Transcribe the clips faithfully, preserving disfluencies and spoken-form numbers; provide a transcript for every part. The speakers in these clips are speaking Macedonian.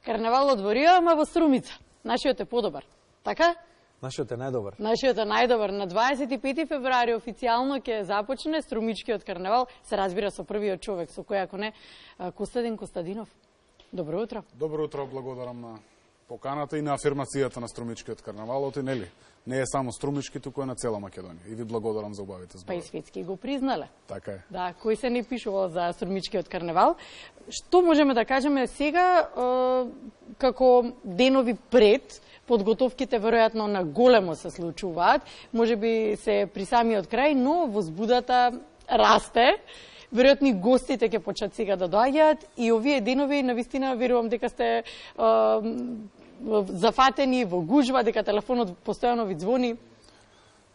Карнавалот во Рио, ама во Струмица. Нашиот е подобар. Така? Нашиот е најдобар. Нашиот е најдобар. На дваесет и пети февруари официјално ќе започне Струмичкиот карнавал. Се разбира со првиот човек, со кој ако не Костадин Костадинов. Добро утро. Добро утро, благодарам на поканата и на афирмацијата на Струмичкиот карнавал, оти нели? Не е само Струмички, туку е на цела Македонија. И ви благодарам за убавите зборови. Па и светски го признале. Така е. Да, кој се не пишувал за Струмичкиот карнавал. Што можеме да кажеме сега, е, како денови пред, подготовките веројатно на големо се случуваат, можеби се при самиот крај, но возбудата расте. Веројатно и гостите ќе почнат сега да доаѓаат и овие денови навистина верувам дека сте е, зафатени во гужва, дека телефонот постојано ви звони.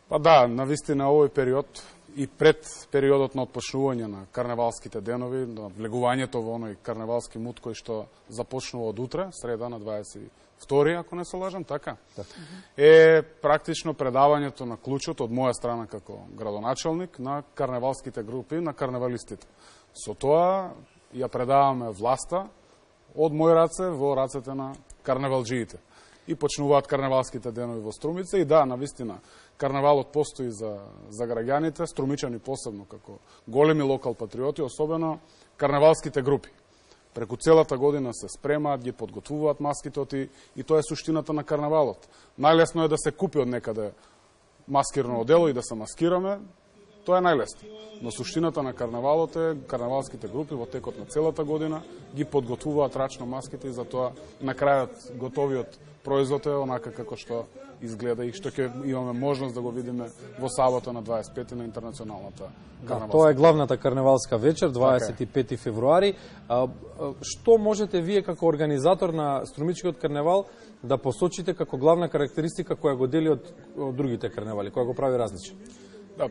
Па да, навистина овој период и пред периодот на отпочнување на карневалските денови, на влегувањето во оној карневалски мут кој што започнува од утре, среда на дваесет и втори, ако не се лажам, така? Да. Е практично предавањето на клучот од моја страна како градоначалник на карневалските групи, на карневалистите. Со тоа ја предаваме власта од мој раце во рацете на карневалџиите. И почнуваат карневалските денови во Струмица и да, навистина, карневалот постои за, за граѓаните, струмичани посебно како големи локал патриоти, особено карневалските групи. Преку целата година се спремаат, ги подготвуваат маските и тоа е суштината на карнавалот. Најлесно е да се купи од некаде маскирно одело и да се маскираме, тоа е најлесно. Но суштината на карнавалот е карнавалските групи во текот на целата година ги подготвуваат рачно маските и затоа на крајот готовиот производ е онака како што изгледа и што ќе имаме можност да го видиме во сабота на дваесет и пети на интернационалната карнавалска. Да, тоа е главната карнавалска вечер, дваесет и пети февруари. А, а, што можете вие како организатор на Струмичкиот карнавал да посочите како главна карактеристика која го дели од, од другите карнавали, која го прави различен? Да,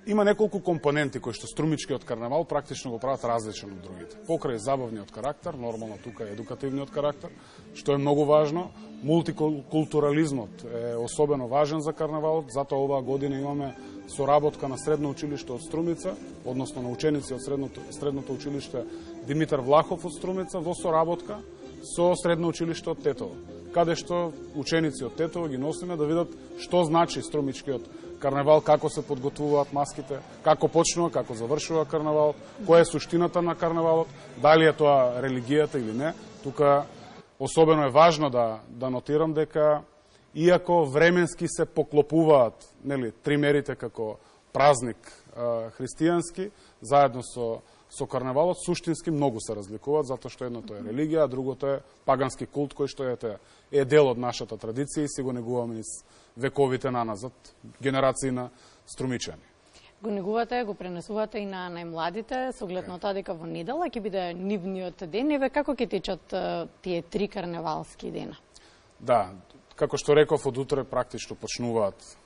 има неколку компоненти кои што Струмичкиот карнавал практично го прават различен од другите. Покрај забавниот карактер, нормално тука е едукативниот карактер, што е многу важно. Мултикултурализмот е особено важен за карнавалот, затоа оваа година имаме соработка на Средно училиште од Струмица, односно на ученици од Средното, Средното училиште Димитар Влахов од Струмица, во соработка со Средно училиште од Тетово, каде што ученици од Тетово ги носиме да видат што значи Струмичкиот карнавал, како се подготвуваат маските, како почнува, како завршува карнавалот, која е суштината на карнавалот, дали е тоа религијата или не. Тука особено е важно да, да нотирам дека иако временски се поклопуваат, нели, тримерите како празник а, христијански, заедно со со карнавалот, суштински многу се разликуваат, затоа што едното е религија, а другото е пагански култ, кој што е, е дел од нашата традиција и си го негуваме низ вековите наназад, генерации на струмичани. Го негувате, го пренесувате и на најмладите, со оглед на тоа дека во недела ќе биде нивниот ден. Еве како ќе течат тие три карневалски дена? Да, како што реков, од утре практично почнуваат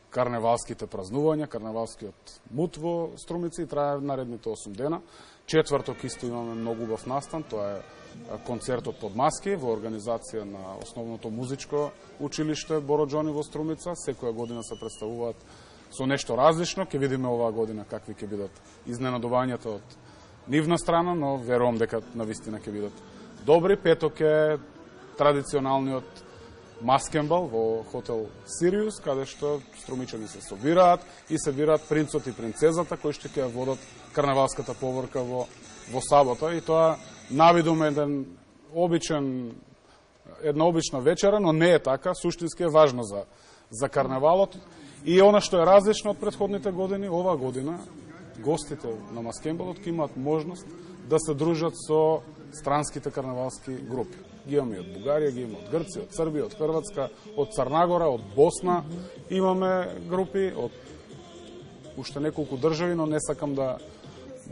карневалските празнувања, карневалскиот мут во Струмица и трае наредните осум дена. Четврток исто имаме многу убав настан, тоа е концертот под маски во организација на основното музичко училиште Боро Џони во Струмица. Секоја година се представуваат со нешто различно. Ќе видиме оваа година какви ќе бидат изненадувањата од нивна страна, но верувам дека навистина ќе бидат добри. Петок е традиционалниот маскенбал во хотел Сириус, каде што струмичани се собираат и се бираат принцот и принцезата кои што ќе водат карнавалската поворка во, во сабота. И тоа навидум еден обичен, една обична вечера, но не е така, суштински е важно за, за карнавалот. И она што е различно од претходните години, оваа година гостите на маскенбалот ќе имаат можност да се дружат со странските карнавалски групи. Ги имаме од Бугарија, ги имаме од Грција, од Србија, од Хрватска, од Црнагора, од Босна. Имаме групи од уште неколку држави, но не сакам да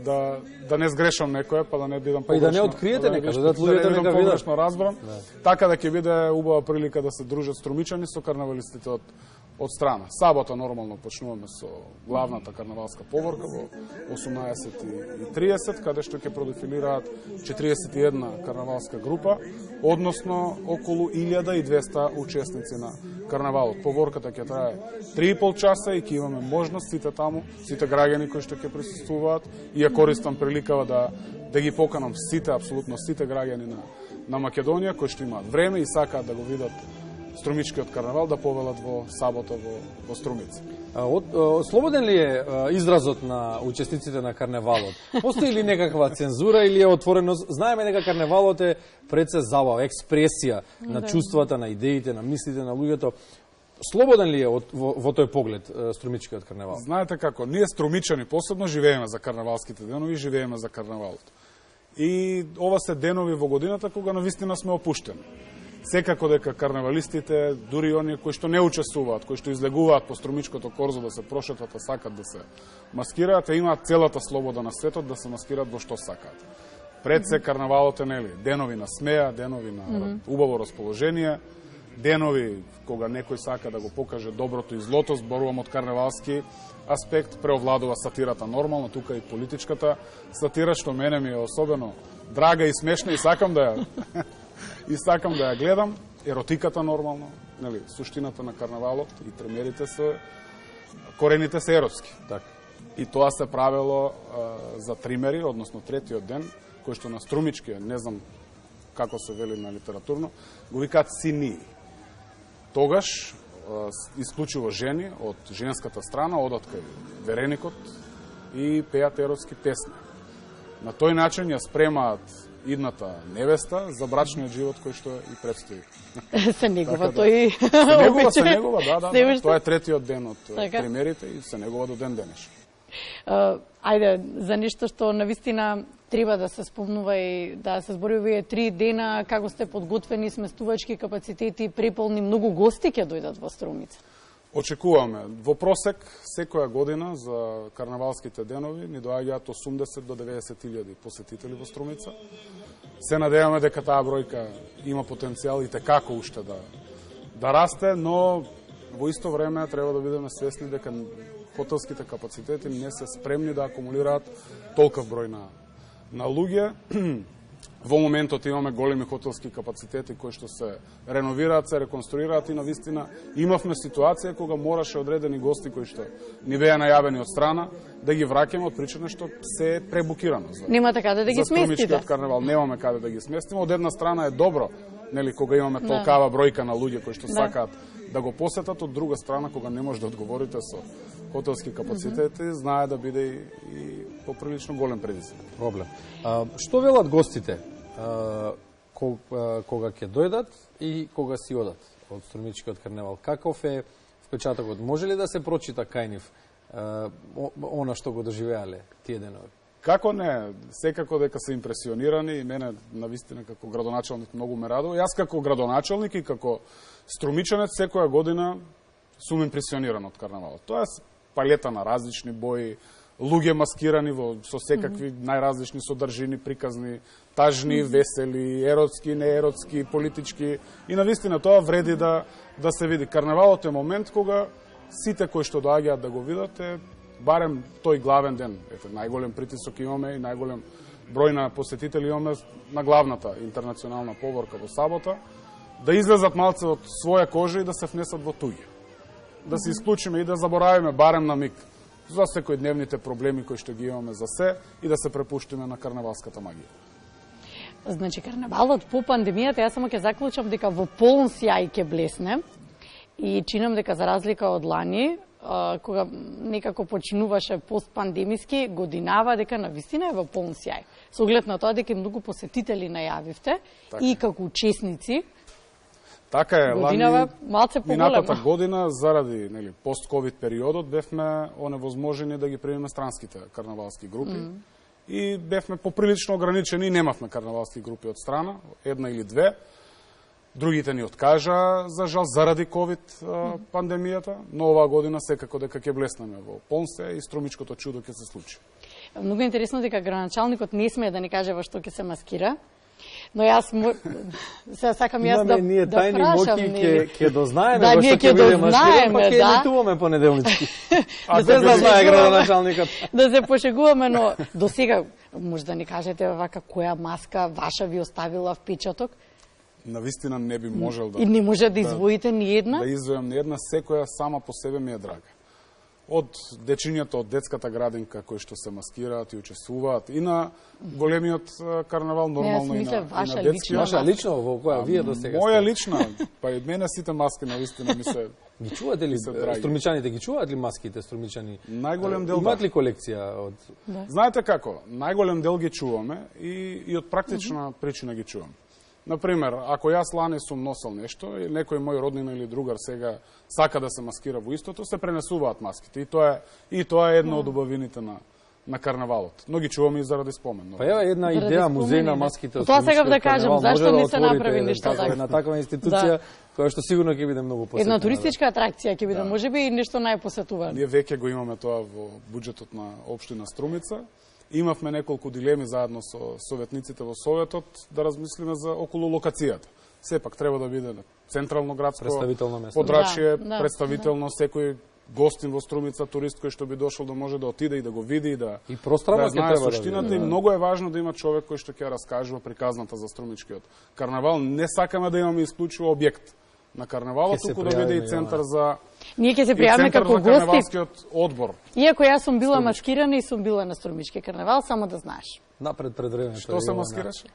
да да не сгрешам некоја, па да не бидам погрешно. Па и да не откриете нека, да луѓето нека видат. Погрешно разбрам. Да. Така да ќе биде убава прилика да се дружат струмичани со карнавалистите од од страна. Сабота нормално почнуваме со главната карнавалска поворка во осумнаесет и триесет, каде што ќе продефилираат четириесет и една карнавалска група, односно околу илјада и двесте учесници на карнавалот. Поворката ќе трае три и пол часа и ќе имаме можност сите таму, сите граѓани кои што ќе присуствуваат, и ја користам приликава да да ги поканам сите, апсолутно сите граѓани на на Македонија кои што имаат време и сакаат да го видат Струмичкиот карнавал, да повелат во сабота во, во Струмица. Од, од, слободен ли е изразот на учесниците на карневалот? Постои ли некаква цензура или е отворено? Знаеме дека карневалот е пред се забава, експресија на чувствата, на идеите, на мислите на луѓето. Слободен ли е од, во, во тој поглед Струмичкиот карневал? Знаете како, ние струмичани посебно живееме за карнавалските денови, живееме за карнавалот. И ова се денови во годината кога навистина сме опуштени. Секако дека карнавалистите, дури оние кои што не учествуваат, кои што излегуваат по Струмичкото корзо да се прошетат, а сакат да се маскираат, имаат целата слобода на светот да се маскираат во што сакаат. Пред се карнавалот е, нели, денови на смеја, денови на mm -hmm. убаво расположение, денови кога некој сака да го покаже доброто и злото, зборувам од карнавалски аспект, преовладува сатирата нормално, тука и политичката сатира, што мене ми е особено драга и смешна и сакам да ја и сакам да ја гледам, еротиката нормално, нели, суштината на карнавалот и премиерите се, корените се еротски. Так. И тоа се правело а, за тримери, односно третиот ден, кој што на Струмички, не знам како се вели на литературно, го викаат синии. Тогаш, а, исклучиво жени од женската страна, одат кај вереникот и пеат еротски песни. На тој начин ја спремаат идната невеста за брачниот живот кој што и предстои. Се негува така, тој. Се негува, се негува, да, да, да. Тоа е третиот ден од така? премиерите и се негува до ден денешен. Uh, ајде, за нешто што навистина треба да се спомнува и да се збори овие три дена, како сте подготвени, сместувачки капацитети, преполни, многу гости ќе дојдат во Струмица. Очекуваме. Во просек, секоја година за карнавалските денови ни доаѓаат осумдесет до деветдесет илјади посетители во Струмица. Се надеваме дека таа бројка има потенцијал и текако уште да, да расте, но во исто време треба да бидеме свесни дека хотелските капацитети не се спремни да акумулираат толков број на, на луѓе. Во моментот имаме големи хотелски капацитети кои што се реновираат, се реконструираат и навистина имавме ситуација кога мораше одредени гости кои што ни беа најавени од страна да ги враќаме од причина што се е пребукирано. За, Нема каде да ги сместите. За Струмичкиот карнавал немаме каде да ги сместиме. Од една страна е добро, нели, кога имаме толкава бројка на луѓе кои што да. сакаат да го посетат, од друга страна кога не може да одговорите со хотелски капацитети, mm -hmm. знае да биде и, и поприлично голем предизвик. Проблем. А, што велат гостите а, кога, кога ќе дојдат и кога си одат од Струмичкиот карнавал? Каков е впечатокот? Може ли да се прочита кај нив а, она што го доживеале тие денови? Како не, секако дека се импресионирани и мене навистина како градоначалник многу ме радува. Јас како градоначалник и како струмичанец секоја година сум импресиониран од карнавалот. Тоа е палета на различни бои, луѓе маскирани во со секакви mm -hmm. најразлични содржини, приказни, тажни, mm -hmm. весели, еротски, нееротски, политички. И навистина тоа вреди да да се види. Карнавалот е момент кога сите кои што доаѓаат да го видат е барем тој главен ден. Ете, најголем притисок имаме и најголем број на посетители имаме на главната интернационална поборка во сабота, да излезат малце од своја кожа и да се внесат во туѓи. Да се исклучиме и да заборавиме барем на миг за секојдневните проблеми кои што ги имаме за се и да се препуштиме на карнавалската магија. Значи, карнавалот по пандемијата, јас само ќе заклучам дека во полн сјај ќе блесне и чинам дека за разлика од лани, кога некако починуваше постпандемиски, годинава дека навистина е во полн сјај. Со оглед на тоа дека многу посетители најавивте така. И како учесници. Така е, годинава малце поголема. Минатата година заради, нели, пост-ковид периодот бевме оневозможени да ги примеме странските карнавалски групи mm. и бевме поприлично ограничени и немавме карнавалски групи од страна, една или две. Другите ни откажа, за жал, заради ковид mm. пандемијата, но оваа година секако дека ќе блеснеме во полнсе и Струмичкото чудо ќе се случи. Многу интересно дека градоначалникот не смее да ни каже во што ќе се маскира. Но јас мо... се сакам јас да ние да тајни прашам, моки ќе ќе дознаеме да, во што ќе биде маскиран, па ќе да. емитуваме понеделнички. А се да знае градоначалникот. Да се пошегуваме, но до сега може да ни кажете вака која маска ваша ви оставила впечаток? Навистина не би можел да... И не може да извоите ни една? Да извојам ни една, секоја сама по себе ми е драга. од дечињата од детската градинка кои што се маскираат и учествуваат и на големиот карнавал, нормално не, и на, ваша и на детскиот. Ваша лично во која вие до сега? Моја лична, па и од мене сите маски навистина ми се ги чувате ли струмичаните, ги чуваат ли маските струмичани? Најголем дел имаат да. ли колекција од Да. Знаете како? Најголем дел ги чуваме и и од практична mm -hmm. причина ги чувам. Например, ако јас лане сум носел нешто и некој мој роднина или другар сега сака да се маскира во истото, се пренесуваат маските и тоа е и тоа е една од убавините на на карнавалот. Но ги чуваме и заради спомен. Па ева една идеја музеј на маските. Тоа сега да кажам, зашто не се направи ништо така? Една таква институција која што сигурно ќе биде многу посетена. Една туристичка атракција ќе биде, можеби и нешто најпосетувано. Ние веќе го имаме тоа во буџетот на општина Струмица. Имавме неколку дилеми заедно со советниците во Советот да размислиме за околу локацијата. Сепак треба да биде централно градско представително место. Подрачје, Да, да, представително да. Секој гостин во Струмица, турист кој што би дошол да може да отиде и да го види и да и прострава да знае треба суштината да и многу е важно да има човек кој што ќе раскажува приказната за струмичкиот карнавал. Не сакаме да имаме исклучиво објект на карнавалот, туку да биде и центар за Ние ќе се пријавиме како гости. Карнавалскиот одбор. Иако јас сум била маскирана и сум била на Струмички карнавал, само да знаеш. Напред пред време. Што се маскираше?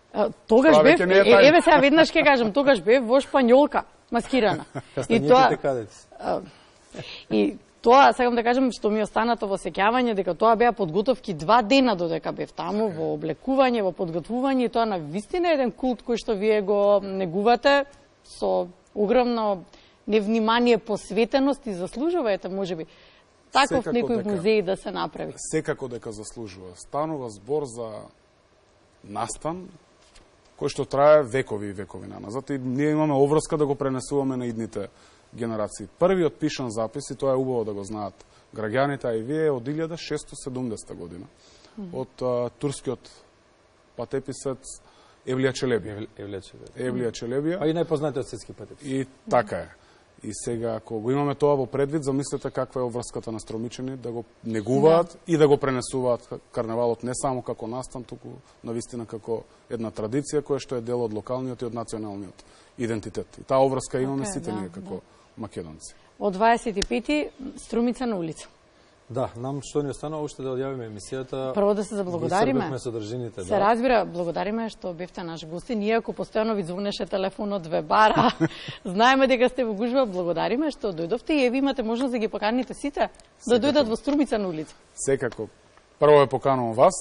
Тогаш Тоа бев, веќе не е е, тајна. еве сега веднаш ќе кажам, тогаш бев во Шпањолка маскирана. И тоа кадец. И тоа, сакам да кажам, што ми останато во сеќавање, дека тоа беа подготовки два дена додека бев таму, во облекување, во подготвување, и тоа на вистина е еден култ кој што вие го негувате со огромно невнимание, посветеност и заслужуваете, можеби, таков Секако некој дека, музеј да се направи. Секако дека заслужува. Станува збор за настан кој што трае векови и векови наназад и ние имаме обврска да го пренесуваме на идните генерации. Првиот пишан запис, и тоа е убаво да го знаат граѓаните, а и вие, од илјада шестстотини и седумдесета година, mm -hmm. од а, турскиот патеписец Евлија Челебија. Евлија Челебија. Евлија Челебија. Па и најпознатиот светски патепис. И така е. И сега, ако го имаме тоа во предвид, замислете каква е обврската на струмичани, да го негуваат да. И да го пренесуваат карнавалот не само како настан, туку навистина како една традиција која што е дел од локалниот и од националниот идентитет. И таа обврска имаме okay, сите да, ние како да. Македонци. Од дваесет и пети Струмица на улица. Да, нам што ни останува уште да одјавиме емисијата. Прво да се заблагодариме. Содржините, се да. разбира, благодариме што бевте наш гостин. Иако постојано ви звонеше телефонот две бара, знаеме дека сте во гужва, благодариме што дојдовте и ви имате можност да ги поканите сите да дојдат во Струмица на улица. Секако. Прво е поканувам вас.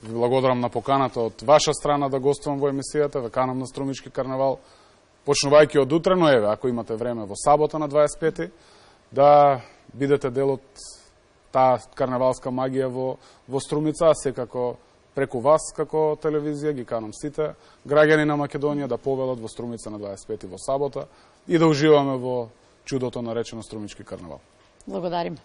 Ви благодарам на поканата од ваша страна да гостувам во емисијата, ве канам на Струмички карнавал. Почнувајќи од утре, но еве, ако имате време во сабота на дваесет и пети, да бидете дел од таа карнавалска магија во, во Струмица, а секако преку вас како телевизија ги канам сите граѓани на Македонија да повелат во Струмица на дваесет и пети во сабота и да уживаме во чудото наречено Струмички карнавал. Благодариме.